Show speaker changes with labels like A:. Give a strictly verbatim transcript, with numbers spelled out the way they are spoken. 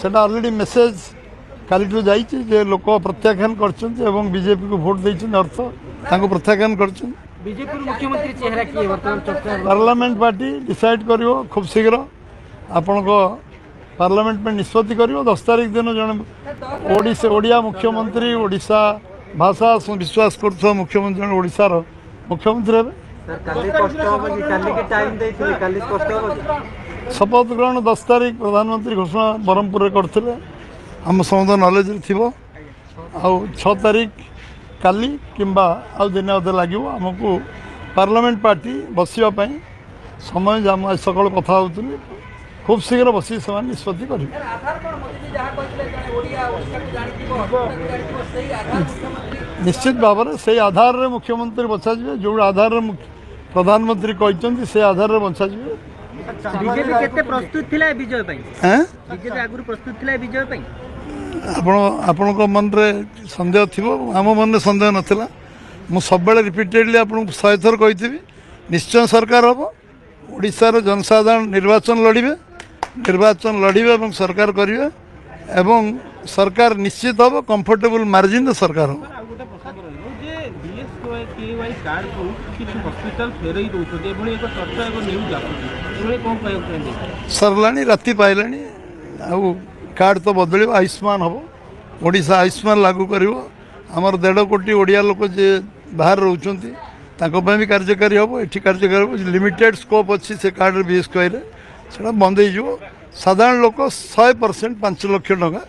A: ସେଟା already message କାଲିଠୁ ଯାଇଛି ଯେ ଲୋକ ପ୍ରତ୍ୟାଖ୍ୟାନ କରିଛନ୍ତି ଏବଂ ବିଜେପିକୁ ଭୋଟ ଦେଇଛନ୍ତି ଅର୍ଥ ତାଙ୍କୁ ପ୍ରତ୍ୟାଖ୍ୟାନ କରିଛନ୍ତି
B: ବିଜେପିର ମୁଖ୍ୟମନ୍ତ୍ରୀ ଚେହେରା କିଏ ବର୍ତ୍ତମାନ ଚର୍ଚ୍ଚା
A: ପାର୍ଲାମେଣ୍ଟ ପାର୍ଟି ଡିସାଇଡ୍ କରିବ ଖୁବ୍ ଶୀଘ୍ର ଆପଣଙ୍କ ପାର୍ଲାମେଣ୍ଟ ପାଇଁ ନିଷ୍ପତ୍ତି କରିବ ଦଶ ତାରିଖ ଦିନ ଜଣେ ଓଡ଼ିଶା ଓଡ଼ିଆ ମୁଖ୍ୟମନ୍ତ୍ରୀ ଓଡ଼ିଶା ଭାଷା ବିଶ୍ୱାସ କରୁଥିବା ମୁଖ୍ୟମନ୍ତ୍ରୀ ଜଣେ ଓଡ଼ିଶାର ମୁଖ୍ୟମନ୍ତ୍ରୀ ହେବେ
C: ସାର୍ କାଲି ସ୍ପଷ୍ଟ ହବ କି କାଲିକି ଟାଇମ୍ ଦେଇଥିଲେ କାଲି ସ୍ପଷ୍ଟ ହବ କି
A: ଶପଥ ଗ୍ରହଣ ଦଶ ତାରିଖ ପ୍ରଧାନମନ୍ତ୍ରୀ ଘୋଷଣା ବ୍ରହ୍ମପୁରରେ କରିଥିଲେ ଆମ ସମସ୍ତ ନଲେଜରେ ଥିବ ଆଉ ଛଅ ତାରିଖ କାଲି କିମ୍ବା ଆଉ ଦିନେ ଅଧେ ଲାଗିବ ଆମକୁ ପାର୍ଲାମେଣ୍ଟ ପାର୍ଟି ବସିବା ପାଇଁ ସମୟ ଯାହା ମୁଁ ଆଜି ସକାଳୁ କଥା ହେଉଥିଲି ଖୁବ୍ ଶୀଘ୍ର ବସି ସେମାନେ ନିଷ୍ପତ୍ତି କରିବେ
B: ଆଧାର କ'ଣ ମୋଦିଜୀ ଯାହା କହିଥିଲେ ଜଣେ ଓଡ଼ିଆ ଓଡ଼ିଶାକୁ ଜାଣିଥିବ ଅସ୍ମିତାକୁ ଜାଣିଥିବ ସେଇ ଆଧାର ମୁଖ୍ୟମନ୍ତ୍ରୀ
A: ନିଶ୍ଚିତ ଭାବରେ ସେଇ ଆଧାରରେ ମୁଖ୍ୟମନ୍ତ୍ରୀ ବଛାଯିବେ ଯେଉଁ ଆଧାରରେ ମୁଖ୍ୟ- ପ୍ରଧାନମନ୍ତ୍ରୀ କହିଛନ୍ତି ସେ ଆଧାରରେ ବଛାଯିବେ
B: ବିଜେପି କେତେ ପ୍ରସ୍ତୁତ ଥିଲା ଏ ବିଜୟ ପାଇଁ
A: ଏଁ
B: ବିଜେପି ଆଗରୁ ପ୍ରସ୍ତୁତ ଥିଲା ଏ ବିଜୟ ପାଇଁ
A: ଆପଣ ଆପଣଙ୍କ ମନରେ ସନ୍ଦେହ ଥିବ ଆମ ମନରେ ସନ୍ଦେହ ନଥିଲା ମୁଁ ସବୁବେଳେ ରିପିଟେଡ଼ଲି ଆପଣଙ୍କୁ ଶହେ ଥର କହିଥିବି ନିଶ୍ଚୟ ସରକାର ହେବ ଓଡ଼ିଶାର ଜନସାଧାରଣ ନିର୍ବାଚନ ଲଢ଼ିବେ ନିର୍ବାଚନ ଲଢ଼ିବେ ଏବଂ ସରକାର କରିବେ ଏବଂ ସରକାର ନିଶ୍ଚିତ ହେବ କମ୍ଫର୍ଟେବୁଲ୍ ମାର୍ଜିନରେ ସରକାର ହେବ
D: ଆଉ ଗୋଟେ ପ୍ରସଙ୍ଗ ରହିବ ଯେ ବିଏସ୍କେୱାଇ କାର୍ଡକୁ କିଛି ହସ୍ପିଟାଲ ଫେରେଇ ଦେଉଛନ୍ତି ଏଭଳି ଏକ ଚର୍ଚ୍ଚା ଏକ ନ୍ୟୁଜ୍ ଆସୁଛି ଏଭଳି କ'ଣ କହିବାକୁ ଚାହିଁବେ
A: ସରିଲାଣି ରାତି ପାଇଲାଣି ଆଉ କାର୍ଡ଼ ତ ବଦଳିବ ଆୟୁଷ୍ମାନ ହେବ ଓଡ଼ିଶା ଆୟୁଷ୍ମାନ ଲାଗୁ କରିବ ଆମର ଦେଢ଼ କୋଟି ଓଡ଼ିଆ ଲୋକ ଯିଏ ବାହାରେ ରହୁଛନ୍ତି ତାଙ୍କ ପାଇଁ ବି କାର୍ଯ୍ୟକାରୀ ହେବ ଏଠି କାର୍ଯ୍ୟକାରୀ ହେବ ଲିମିଟେଡ଼ ସ୍କୋପ୍ ଅଛି ସେ କାର୍ଡ଼ରେ ବିଏସ୍କେୱାଇରେ ସେଇଟା ବନ୍ଦ ହେଇଯିବ ସାଧାରଣ ଲୋକ ଶହେ ପରସେଣ୍ଟ ପାଞ୍ଚ ଲକ୍ଷ ଟଙ୍କା